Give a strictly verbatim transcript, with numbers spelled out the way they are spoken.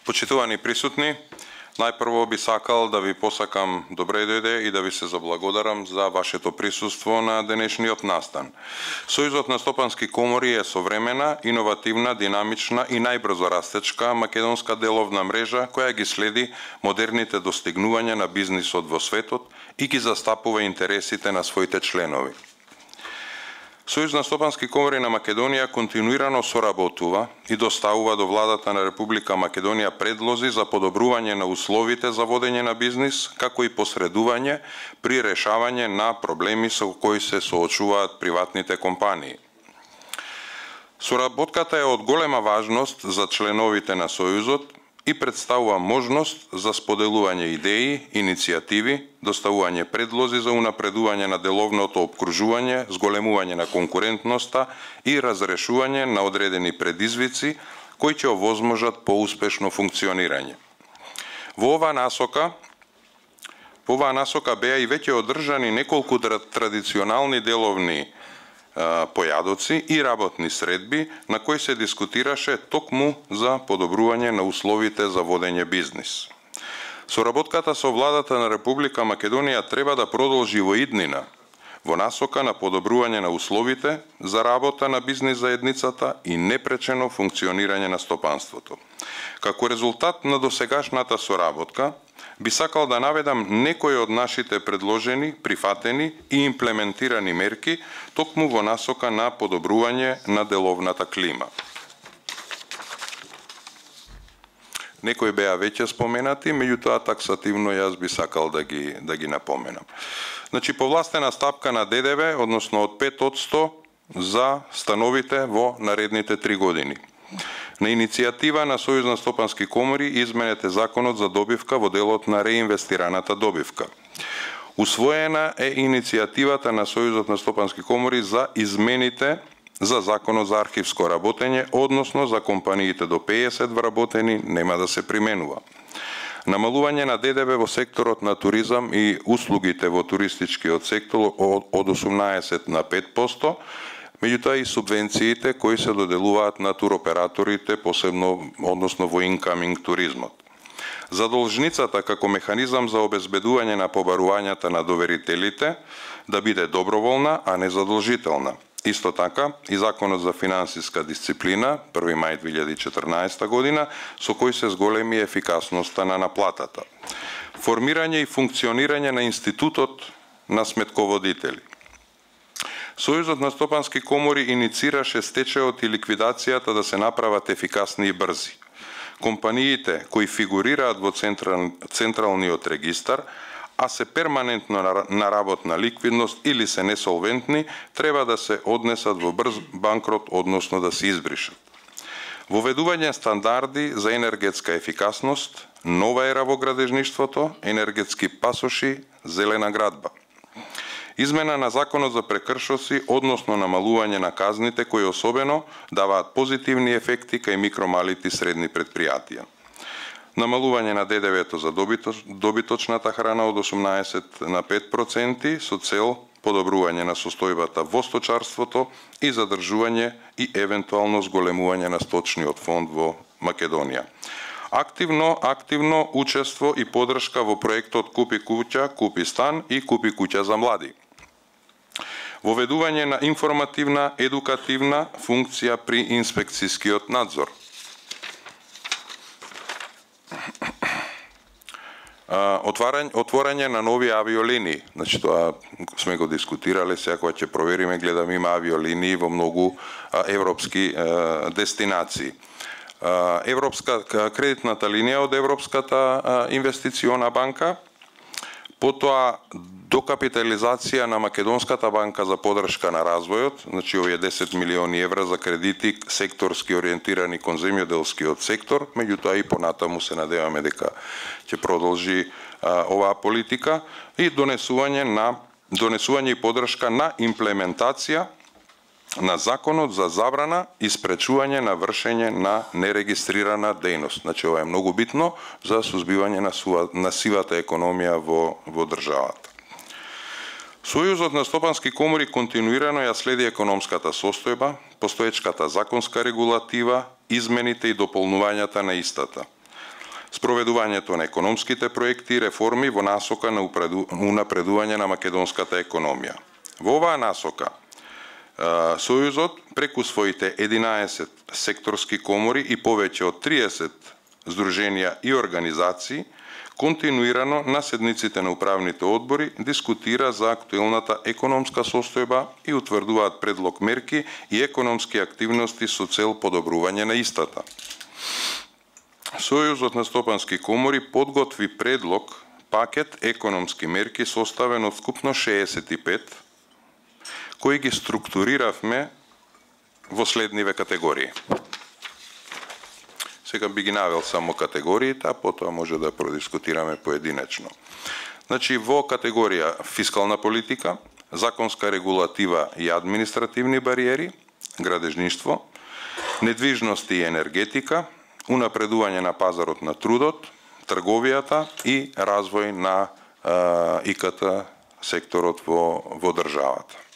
Почитувани присутни, најпрво би сакал да ви посакам добре дојде и да ви се заблагодарам за вашето присуство на денешниот настан. Сојузот на стопански комори е современа, иновативна, динамична и најбрзо растечка македонска деловна мрежа која ги следи модерните достигнувања на бизнисот во светот и ги застапува интересите на своите членови. Сојуз на стопански комори на Македонија континуирано соработува и доставува до владата на Република Македонија предлози за подобрување на условите за водење на бизнис, како и посредување при решавање на проблеми со кои се соочуваат приватните компании. Соработката е од голема важност за членовите на Сојузот и представува можност за споделување идеи, иницијативи, доставување предлози за унапредување на деловното опкружување, зголемување на конкурентноста и разрешување на одредени предизвици кои ќе овозможат поуспешно функционирање. Во оваа насока, по оваа насока беа и веќе одржани неколку традиционални деловни појадоци и работни средби на кои се дискутираше токму за подобрување на условите за водење бизнис. Соработката со владата на Република Македонија треба да продолжи во иднина, во насока на подобрување на условите за работа на бизнис заедницата и непречено функционирање на стопанството. Како резултат на досегашната соработка, би сакал да наведам некои од нашите предложени, прифатени и имплементирани мерки токму во насока на подобрување на деловната клима. Некои беа веќе споменати, меѓутоа таксативно јас би сакал да ги да ги напоменам. Значи повластена стапка на Д Д В, односно од пет одсто за становите во наредните три години. На иницијатива на Сојуз на стопански комори изменете законот за добивка во делот на реинвестираната добивка. Усвоена е иницијативата на Сојузот на стопански комори за измените за законот за архивско работење, односно за компаниите до пеесет вработени нема да се применува. Намалување на Д Д В во секторот на туризам и услугите во туристичкиот сектор од осумнаесет на пет одсто, меѓутоа и субвенциите кои се доделуваат на туроператорите, посебно односно во инкаминг туризмот. Задолжницата како механизам за обезбедување на побарувањата на доверителите да биде доброволна, а не задолжителна. Исто така и законот за финансиска дисциплина, први мај две илјади и четрнаесета година, со кој се зголеми ефикасноста на наплатата. Формирање и функционирање на институтот на сметководители. Сојузот на стопански комори иницираше стечајот и ликвидацијата да се направат ефикасни и брзи. Компаниите кои фигурираат во централ, централниот регистар, а се перманентно на работна ликвидност или се несолвентни, треба да се однесат во брз банкрот, односно да се избришат. Воведување стандарди за енергетска ефикасност, нова ера во градежништвото, енергетски пасоши, зелена градба. Измена на законот за прекршоци, односно намалување на казните кои особено даваат позитивни ефекти кај микро, малите и средни предпријатија. Намалување на Д Д В-то за добиточ, добиточната храна од осумнаесет на пет проценти со цел подобрување на состојбата во сточарството и задржување и евентуално зголемување на сточниот фонд во Македонија. Активно, активно учество и подршка во проектот Купи куќа, купи стан и Купи куќа за млади. Воведување на информативна, едукативна функција при инспекцијскиот надзор. Отварање, отворање на нови авиолинии. Значи тоа сме го дискутирале, сега кога ќе провериме, гледам има авиолинии во многу европски дестинации. Европска кредитната линија од Европската инвестициона банка, потоа докапитализација на Македонската банка за подршка на развојот, значи овие десет милиони евра за кредити секторски ориентирани кон земјоделскиот сектор, меѓутоа и понатаму се надеваме дека ќе продолжи а, оваа политика и донесување на донесување и подршка на имплементација на законот за забрана и спречување на вршење на нерегистрирана дејност. Значи ова е многу битно за сузбивање на, сува, на сивата економија во, во државата. Сојузот на стопански комори континуирано ја следи економската состојба, постоечката законска регулатива, измените и дополнувањата на истата. спроведувањето на економските проекти и реформи во насока на унапредување на македонската економија. Во оваа насока, Сојузот преку своите единаесет секторски комори и повеќе од триесет здруженија и организации континуирано на седниците на управните одбори дискутира за актуелната економска состојба и утврдуваат предлог мерки и економски активности со цел подобрување на истата. Сојузот на стопански комори подготви предлог пакет економски мерки составен од вкупно шеесет и пет, кои ги структуриравме во следниве категории. Сега би ги навел само категориите, а потоа може да продискутираме поединечно. Значи, во категорија фискална политика, законска регулатива и административни бариери, градежништво, недвижности и енергетика, унапредување на пазарот на трудот, трговијата и развој на ИКТ секторот во, во државата.